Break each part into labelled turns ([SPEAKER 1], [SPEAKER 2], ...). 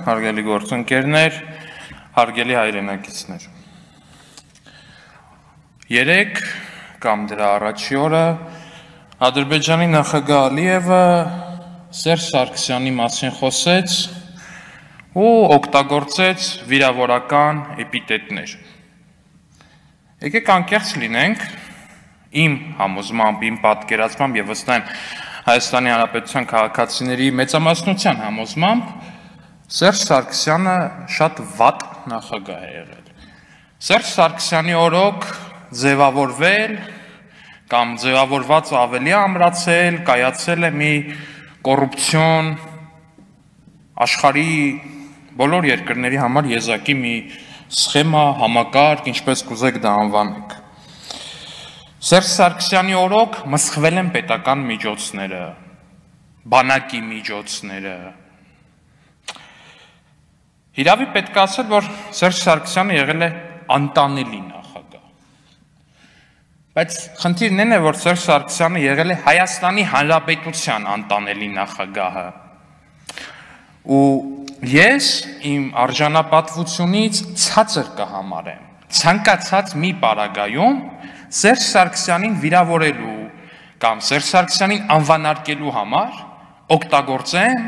[SPEAKER 1] հարգելի գործընկերներ, հարգելի հայրենակիցներ։ Երեկ կամ դրա առաջի օրը Ադրբեջանի նախագահ Ալիևը Սերժ Սարգսյանի մասին խոսեց ու օգտագործեց վիրավորական էպիտետներ։ Եկեք անկեղծ լինենք, իմ համոզմամբ, իմ պատկերացմամբ եւ ըստ այն Հայաստանի Հանրապետության քաղաքացիների մեծամասնության համոզմամբ Սերժ Սարգսյանը շատ վատ նախագահ է եղել։ Սերժ Սարգսյանի օրոք ձևավորվել կամ ձևավորված ավելի ամրացել, կայացել է մի կոռուպցիոն աշխարհի բոլոր երկրների համար եզակի մի սխեմա, համակարգ, ինչպես կուզեք դա անվանեք։ Սերժ Սարգսյանի օրոք մսխվել են պետական միջոցները, բանակի միջոցները։ Իրավի պետք է ասել, որ Սերժ Սարգսյանը եղել է անտանելի նախագահ։ Բայց խնդիրն այն է, որ Սերժ Սարգսյանը եղել է Հայաստանի Հանրապետության անտանելի նախագահը։ Ու ես իմ արժանապատվությունից ցածր կհամարեմ ցանկացած մի պարագայում Սերժ Սարգսյանին վիրավորելու կամ Սերժ Սարգսյանին անվանարկելու համար օգտագործեմ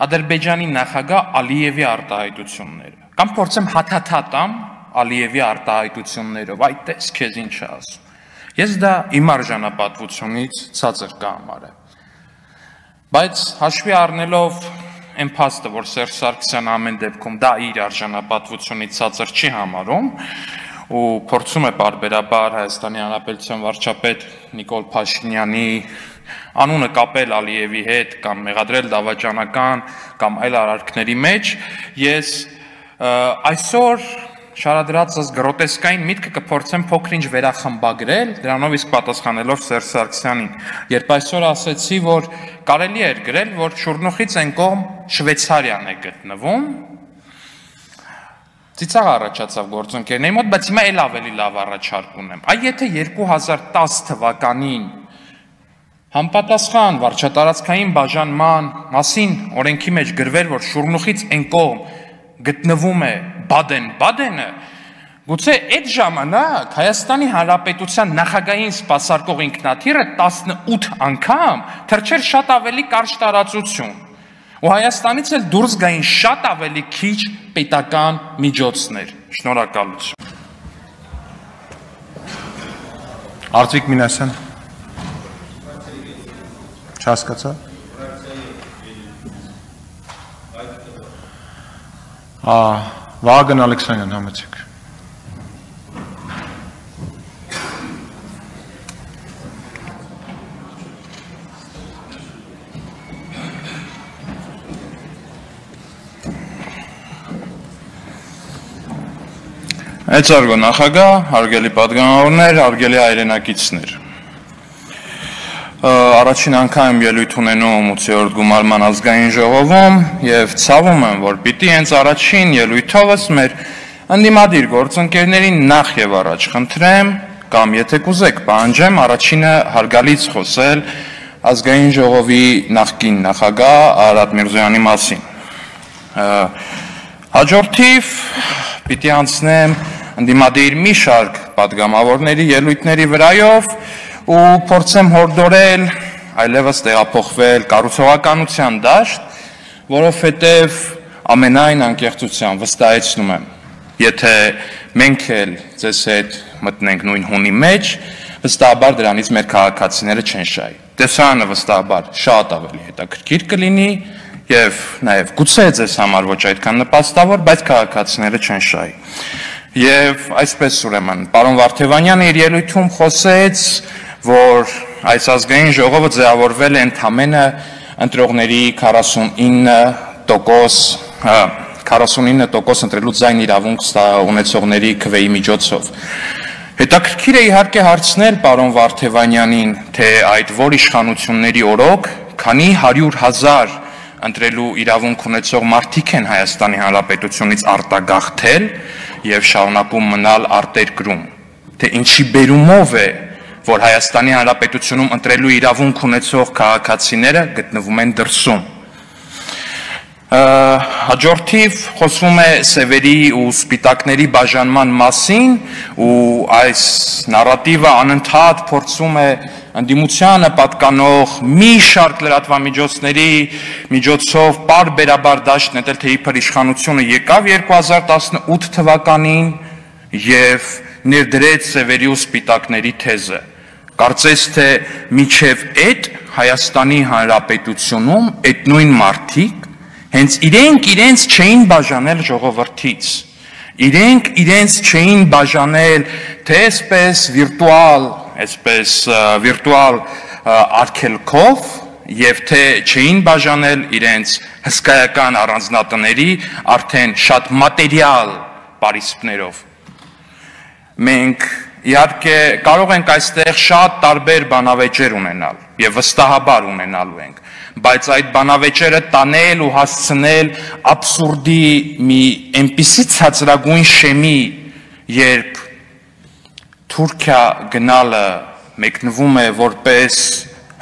[SPEAKER 1] Ադրբեջանի նախագահ Ալիևի արտահայտությունները կամ փորձեմ հաթաթատամ Ալիևի արտահայտություններով, այ տես քեզ ինչ է ասում։ Ես դա իմ արժանապատվությունից ցածր կհամարեմ։ Բայց հաշվի առնելով այն փաստը, որ Սերժ Սարգսյանը ամեն դեպքում դա իր արժանապատվությունից ցածր չի համարում, ու փորձում է պարբերաբար Հայաստանի Հանրապետության վարչապետ Նիկոլ Փաշինյանի անունը կապել Ալիևի հետ կամ մեղադրել դավաճանական կամ այլ արարքների մեջ, ես այսօր շարադրածս գրոտեսկային միտքը կփորձեմ փոքր-ինչ վերախմբագրել, դրանով իսկ պատասխանելով Սերժ Սարգսյանին, երբ այսօր ասեցի, որ կարելի էր գրել, որ Շուռնուխից այն կողմ Շվեյցարիան է գտնվում, ծիծաղ առաջացավ գործընկերների մոտ, բայց հիմա էլ ավելի լավ առաջարկ ունեմ։ Այ եթե 2010 թվականին համապատասխան վարչատարածքային բաժանման մասին օրենքի մեջ գրվել, որ Շուռնուխից այն կողմ գտնվում է Բադեն-Բադենը, գուցե այդ ժամանակ Հայաստանի Հանրապետության նախագահային սպասարկող ինքնաթիռը 18 անգամ թռչեր շատ ավելի կարճ տարածություն։ Ու Հայաստանից էլ դուրս գային շատ ավելի քիչ պետական միջոցներ։ Շնորհակալություն։
[SPEAKER 2] Արտվիկ Մինասյան։ Չհասկացա։ Վահագն Ալեքսանյան, համեցեք։
[SPEAKER 1] Մեծարգո նախագահ, հարգելի պատգամավորներ, հարգելի հայրենակիցներ։ Առաջին անգամ ելույթ ունենում 8-րդ գումարման ազգային ժողովում եւ ցավում եմ, որ պիտի հենց առաջին ելույթովս մեր ընդդիմադիր գործընկերներին նախ եւ առաջ խնդրեմ կամ եթե կուզեք պահանջեմ առաջինը հարգալից խոսել ազգային ժողովի նախկին նախագահ Արարատ Միրզոյանի մասին։ Հաջորդիվ պիտի անցնեմ ընդդիմադիր մի շարք պատգամավորների ելույթների վրայով ու փորձեմ հորդորել այլևս տեղափոխվել կառուցողականության դաշտ, որովհետև ամենայն անկեղծությամբ վստահեցնում եմ, եթե մենք էլ ձեզ հետ մտնենք նույն հունի մեջ, վստահաբար դրանից մեր քաղաքացիները չեն շահի։ Տեսարանը վստահաբար շատ ավելի հետաքրքիր կլինի եւ նաեւ գուցե ձեզ համար ոչ այդքան նպաստավոր, բայց քաղաքացիները չեն շահի։ Եվ այսպես ուրեմն, պարոն Վարդևանյանը իր ելույթում խոսեց, որ այս ազգային ժողովը ձևավորվել է ընդամենը ընտրողների 49% ընտրելու ձայն իրավունք ունեցողների քվեի միջոցով։ Հետաքրքիր է իհարկե հարցնել պարոն Վարդևանյանին, թե այդ որ իշխանությունների օրոք քանի 100,000 ընտրելու իրավունք ունեցող մարդիկ են Հայաստանի Հանրապետությունից արտագաղթել եւ շարունակում մնալ արտերկրում, թե ինչի բերումով է, որ Հայաստանի Հանրապետությունում ընտրելու իրավունք ունեցող քաղաքացիները գտնվում են դրսում։ Հաջորդիվ խոսվում է սևերի ու սպիտակների բաժանման մասին ու այս նարատիվը անընդհատ փորձում է ընդդիմությանը պատկանող մի շարք լրատվամիջոցների միջոցով պարբերաբար դաշտ նետել, թե իբր իշխանությունը եկավ 2018 թվականին եւ ներդրեց սևերի ու սպիտակների թեզը։ Կարծես թե միջև այդ Հայաստանի Հանրապետությունում այդ նույն մարդիկ հենց իրենց չէին բաժանել ժողովրդից, իրենց չէին բաժանել թե վիրտուալ արգելքով եւ թե չէին բաժանել իրենց հսկայական առանձնատների արդեն շատ մատերիալ պարիսպներով։ Մենք իհարկե կարող ենք այստեղ շատ տարբեր բանավեճեր ունենալ եւ վստահաբար ունենալու ենք, բայց այդ բանավեճերը տանել ու հասցնել աբսուրդի մի այնպիսի ցածրագույն շեմի, երբ Թուրքիա գնալը մեկնվում է որպես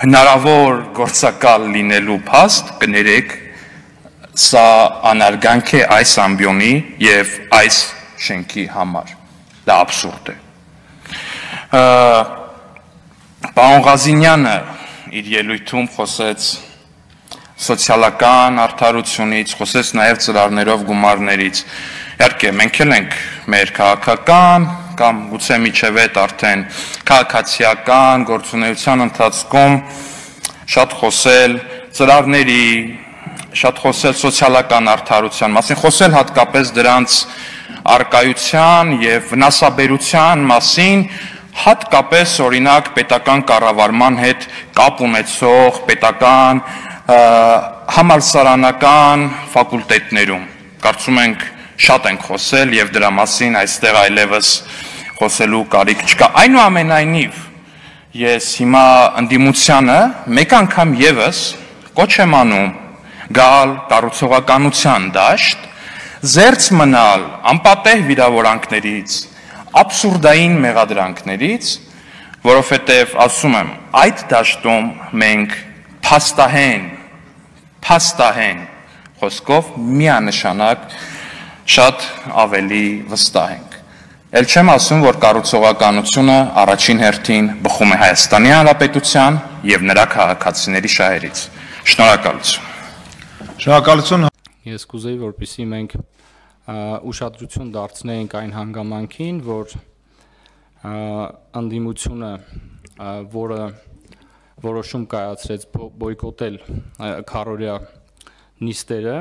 [SPEAKER 1] հնարավոր գործակալ լինելու փաստ, կներեք, սա անարգանք է այս ամբիոնի եւ այս շենքի համար։ Դա աբսուրդ է։ Պարոն Ղազինյանը իր ելույթում խոսեց սոցիալական արդարությունից, խոսեց նաև ծրարներով գումարներից։ Իհարկե, մենք էլ ենք մեր քաղաքական կամ գուցե միջև այդ արդեն քաղաքացիական գործունեության ընթացքում շատ խոսել ծրարների, շատ խոսել սոցիալական արդարության մասին, խոսել հատկապես դրանց արկայության եւ վնասաբերության մասին, հատկապես օրինակ պետական կառավարման հետ կապ ունեցող պետական համալսարանական ֆակուլտետներում։ Կարծում ենք շատ ենք խոսել եւ դրա մասին այստեղ այլևս խոսելու կարիք չկա։ Այնուամենայնիվ ես հիմա ընդդիմությանը մեկ անգամ եւս կոչ եմ անում գալ կառուցողականության դաշտ, զերծ մնալ անպատեհ վիրավորանքներից, աբսուրդային մեղադրանքներից, որովհետև ասում եմ, այդ դաշտում մենք փաստահեն խոսքով միանշանակ շատ ավելի վստահ ենք։ Էլ չեմ ասում, որ կառուցողականությունը առաջին հերթին բխում է Հայաստանի Հանրապետության եւ նրա քաղաքացիների շահերից։ Շնորհակալություն։
[SPEAKER 2] Շնորհակալություն։
[SPEAKER 3] Ես կուզեի, որպեսզի մենք ուշադրություն դարձնենք այն հանգամանքին, որ ընդդիմությունը, որը որոշում կայացրեց բոյկոտել քառօրյա նիստերը,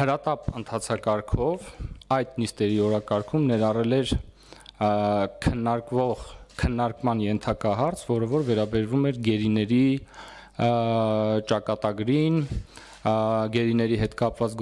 [SPEAKER 3] հրատապ ընթացակարգով այդ նիստերի օրակարգում ներառել էր քննարկման ենթակահարց, որը որ վերաբերվում էր գերիների ճակատագրին, գերիների հետ կապված